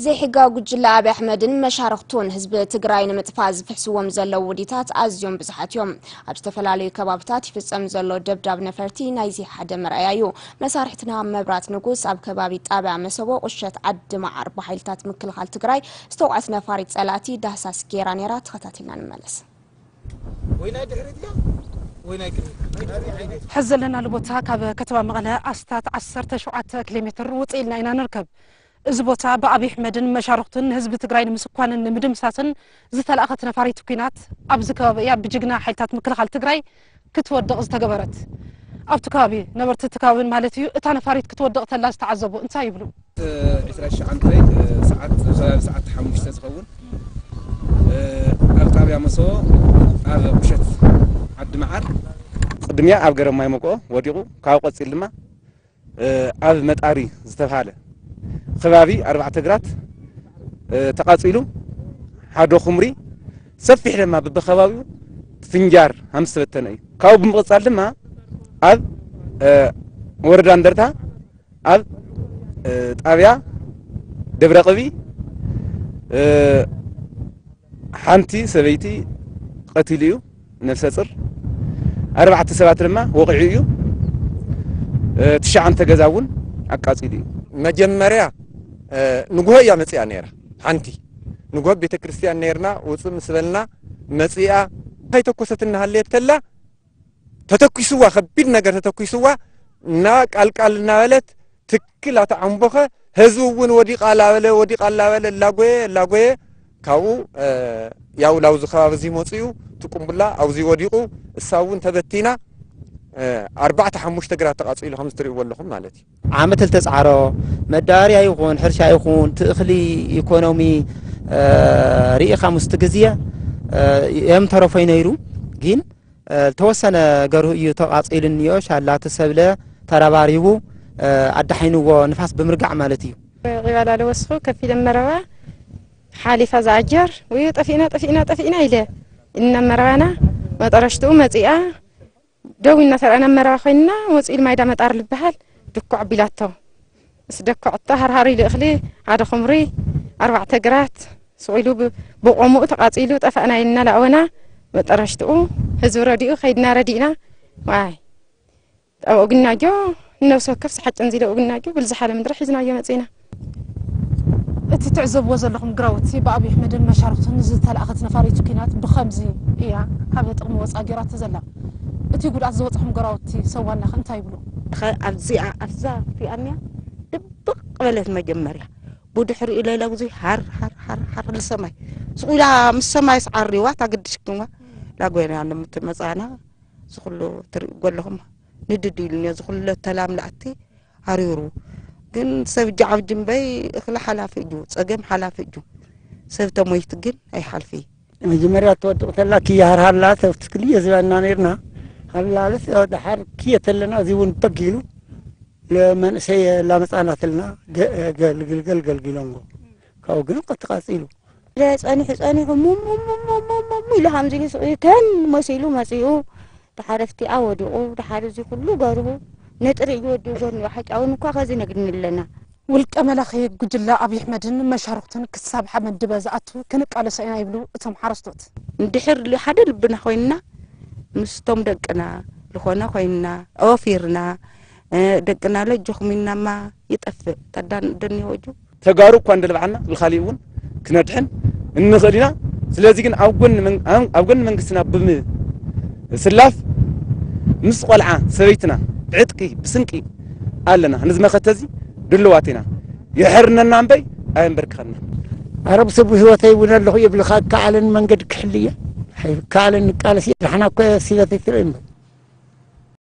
ዘይሕጋዊ ጉጅለ ኣብይ ኣሕመድን መሻርኽቱን ህዝቢ ትግራይ ንምጥፋእ ዝፍሕስዎም ዘለዉ ውዲታት ኣዝዮም ብዙሓት እዮም። ኣብ ዝተፈላለዩ ከባብታት ይፍጸም ዘሎ ደብዳብ ነፈርቲ ናይዚ ሓደ መርኣያ እዩ። መሳርሕትና መብራት ንጉስ ኣብ ከባቢ ጣብያ መሰቦ ቁሸት ዓዲ መዓር ብሓይልታት ምክልኻል ትግራይ ዝተውዓት ነፋሪት ጸላእቲ ዳህሳስ ጌራ ነይራ። ተኸታቲልና ንመለስ። ወይ ናይ ድሕሪት እያ ወይ ናይ ቅድሚት። ሕዚ ዘለናሉ ቦታ ካብ ከተማ መቐለ ኣስታት ዓሰርተ ሸውዓተ ኪሎ ሜትር ውፅእ ኢልና ኢና ንርከብ። እዚ ቦታ ብኣብይ ኣሕመድን መሻርኽቱን ንህዝቢ ትግራይ ንምስኳንን ንምድምሳስን ዝተላእኸት ነፋሪት ኲናት ኣብዚ ከባቢ እያ ብጅግና ሓይልታት ምክልኻል ትግራይ ክትወድቕ ዝተገበረት። ኣብቲ ከባቢ ነበርቲ እቲ ከባብን ማለት እዩ እታ ነፋሪት ክትወድቕ ተላ ዝተዓዘቡ እንታይ ይብሉ? ዒስራ ሸዓንተ ሰዓት፣ ኣብ ከባቢ ሰዓት ሓሙሽተ ዝኸውን ኣብ ጣብያ መሰቦ ኣብ ቁሸት ዓዲ መዓር ቅድሚያ ኣብ ገረብ ማይ መቆ ወዲቑ፣ ካብ ቀፂል ድማ ኣብ መጣሪ ዝተባሃለ ከባቢ ኣርባዕተ ግራት ተቃፂሉ፣ ሓደ ኩምሪ ሰፊሕ ድማ ብብከባቢኡ ፍንጃር ሃምስ ተበተነ እዩ። ካብኡ ብምቕፃል ድማ ኣብ ወረዳ እንደርታ ኣብ ጣብያ ደብረ ቅቢ ሓንቲ ሰበይቲ ቀቲሉ እዩ፣ ነፍሰ ጽር። ኣርባዕተ ሰባት ድማ ወቒዑ እዩ። ትሽዓንተ ገዛ እውን ኣቃጺሉ እዩ። መጀመርያ ንግሆ እያ መጽያ ነይራ። ሓንቲ ንግሆ ቤተ ክርስቲያን ነይርና፣ ውጽእ ምስ በልና መጽያ፣ እንታይ ተኮሰት እናሃለየት ተላ ተተኪስዋ፣ ከቢድ ነገር ተተኪስዋ፣ እና ቃልቃል እናበለት ትክል ኣተዓምቦኸ፣ ህዝቢ እውን ወዲቓ ላበለ፣ ወዲቓ ላበለ፣ ላጎየ፣ ላጎየ፣ ካብኡ ያው ላውዚ ከባቢ እዚ መፅኡ ትቁምቡላ ኣብዚ ወዲቑ፣ እሳ እውን ተበቲና፣ ኣርባዕተ ሓሙሽተ ግራት ተቃፂሉ ከምዚ ትሪእዎ ኣለኹም ማለት እዩ። ዓመት ዝተፃዕሮ መዳበርያ ይኹን ሕርሻ ይኹን ትእኽሊ ኢኮኖሚ ርኢኻ ምስቲ ግዜ የም ተረፎይ ነይሩ ግን ዝተወሰነ ገርሁ እዩ ተቓፂሉ እኒኦ። ሻላ እቲ ሰብለ ተረባሪቡ ኣዳሒንዎ ንፋስ ብምርጋዕ ማለት እዩ። ቂባላ ለወስኹ ከፊለ መረባ ሓሊፋ ዝኣጀር ወይ ጠፊእና ጠፊእና ጠፊእና ኢለ እና መረባና መጠረሽትኡ መፂኣ ደው እናተረኣና መረባ ኮይንና መፂኡ ኢል ማይዳ መጣር ልበሃል ድኩዕ ቢላቶ ምስ ደኩዕቶ ሃርሃር ኢሉ እኽሊ ሓደ ኹምሪ ኣርባዕተ ግራት ስቕ ኢሉ ብ- ብቆምኡ ተቓፂሉ ጠፋእና ኢልና ላእወና መጠረሽትኡ ህዝቢ ረዲኡ ከይድና ረዲእና ዋይ ኣብ ኦግናጆ ንነብሲ ወከፍ ዝሓጭን ዚለ ኦግናጆ ብልዝሓለ ምድሪ ሒዝናዮ መፂና። እቲ ትዕዘብዎ ዘለኹም ግራውቲ ብኣብይ ኣሕመድን መሻርክቱን ዝተላእኸት ነፋሪት ኲናት ብኸምዚ እያ ካብ ጥቕሚ ወፃእ ገይራቶ ዘላ። እቲ ጉድኣት ዝበፅሖም ግራውቲ ሰብ ዋናኸ እንታይ ይብሉ? ኸ ኣብዚኣ ኣብዛ እቲኣንያ ድብቕ በለት መጀመርያ ብድሕሪኡ ለይለ ብዙ ሃር ሃር ሃር ሃር ንሰማይ ስቑላ ምስ ሰማይ ስዓሪዋ ታግድሽክዋ ላጎና ንምትመፃና ዝኩሉ ትሪእዎ ኣለኹም ንድድ ኢሉኒ እዚ ኩሉ ተላም ላእቲ ሃሪሩ ግን ሰብ ጃዓብ ጅንበይ እኽሊ ሓላፊ እዩ ፀገም ሓላፊ እዩ ሰብ ተሞይት ግን ኣይሓልፊ። መጀመርያ ትወድቕ ተላ ክያሃርሃላ ተፍትክልየ ዝበና ነርና ሃላለስ ድሓር ክየ ተለና እዚ እውን በጊሉ ለመንእሰይ ላመፃናትልና ገልግልገል ገልጊሎንጎ ካብኡ ግን ቀትቃፂሉ ጸኒሑ ጸኒሑ ሙሙሙሙሙሙ ኢሉ ከምዚ ኢሉ ስቕ ኢሉ ተን መሲሉ መጺኡ። ደሓር ኣብቲኣ ወዲቑ፣ ደሓር እዚ ኩሉ ገርሁ ነጥሪ እዩ ወዲኡ ጎኒ ሓጫውን እኳ ከዚ ነግድኒ ኣለና። ውልቀ መላኺ ጉጅለ ኣብይ ኣሕመድን መሻርኽቱን ክሳብ ሓመድ ድበ ዝኣቱ ክንቃለሶ ኢና ይብሉ እቶም ሓረስቶት። እንድሕር ል- ሓደ ልብና ኮይንና ምስቶም ደቅና ዝኾነ ኮይንና ኣወፊርና እ፣ ደቅና ለጆኹም ኢልናማ ይጠፍእ ተዳን ደኒወጁ ተጋሩ እኳ እንደልባዓልና ብኻሊእ እውን ክነድሕን እንኽእል ኢና። ስለዚ ግን ኣብ ጎኒ መን- ኣብ ኣብ ጎኒ መንግስትና ብምስላፍ ምስ ቆልዓ ሰበይትና ብዕጥቂ ብስንቂ ኣለና። ነዚ መኸተ እዚ ድልዋት ኢና። የሕርነና እምበይ ኣየንበርክኸና። ኣረ ብሰብ ህይወተይ እውን ኣለኹ የብልኻ ከዓለን መንገድ ክሕልየ ከዓለን ንቃለስ የድሓና እኮ ሲበተይ ትርኢ እምበር